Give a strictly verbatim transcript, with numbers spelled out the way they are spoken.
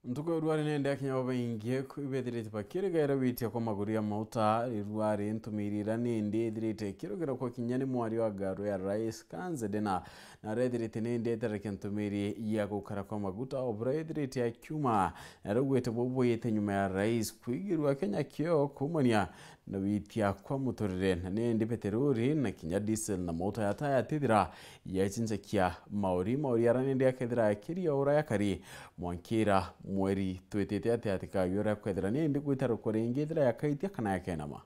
Ntuku ya ruari nende akinya babaingi kwibethirite bakirigaira witia kwa maguru ya mauta, riruari ntumiri ira nindi ithirite ikirugira kwa kinya ni mwari wa ngaru ya rais Kanze Dena, na arethirite nindi eterekia ntumiri ya gukara kwa maguta o bura ithirite akiuma, na riu gwite bubwite nyuma ya rais kwigirwa Kenya kio kumania na witia kwa muturire, na nindi peterori na kinya diesel na mauta ya taya tithira yachinjakia mauri, mauri ara nindi akethira akiria ura yakari mwankira mweri twitite ati atikayura kwethira nindi gwita ruko ringi ithira yakaitia kana yakenama.